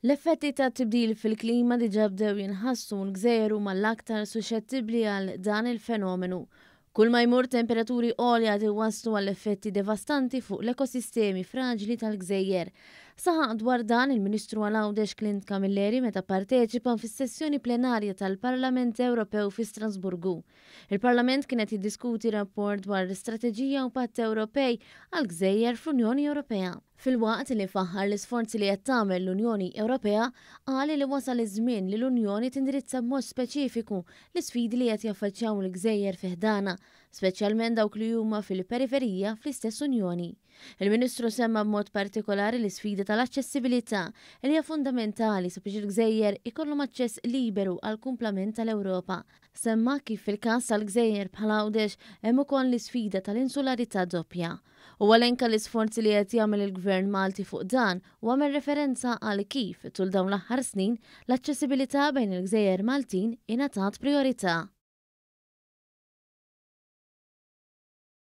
L-effetti tat-tibdil fil-klima diġà bdew jinħassu u l-gżejjer huma l-aktar suxxettibbli għal dan il-fenomenu. Kull ma jmur temperaturi għolja qed iwasslu għal effetti devastanti fuq l-ekosistemi fraġli tal-gżejjer. Saħaq dwar dan il-Ministru għal Għawdex Clint Camilleri meta pparteċipa fis-sessjoni plenarja tal-Parlament Ewropew fi Strasburgu. Il-Parlament kien qed jiddiskuti rapport dwar strateġija u patt Ewropej għall-gżejjer fl-Unjoni Ewropea. Filwaqt li faħħar l-isforzi li qed tagħmel l-Unjoni Ewropea, qal li wasal iż-żmien li l-Unjoni tindirizza b'mod speċifiku l-isfidi li qed jaffaċċjaw il-gżejjer fi ħdanha, speċjalment dawk li huma fil-periferija fl-istess Unjoni. Il-Ministru semma b'mod partikolari l-isfida tal-aċċessibilità, li hija fundamentali sabiex il-gżejjer ikollhom aċċess liberu għall-kumplament tal-Ewropa. Semma kif fil-każ tal-gżejjer bħal Għawdex hemm ukoll l-isfida tal-insularità doppja. Huwa elenka l-isforzi li qed jagħmel il-Gvern Malti fuq dan u għamel referenza għal kif, tul dawn l-aħħar snin, l-aċċessibilità bejn il-gżejjer Maltin ingħatat prijorità.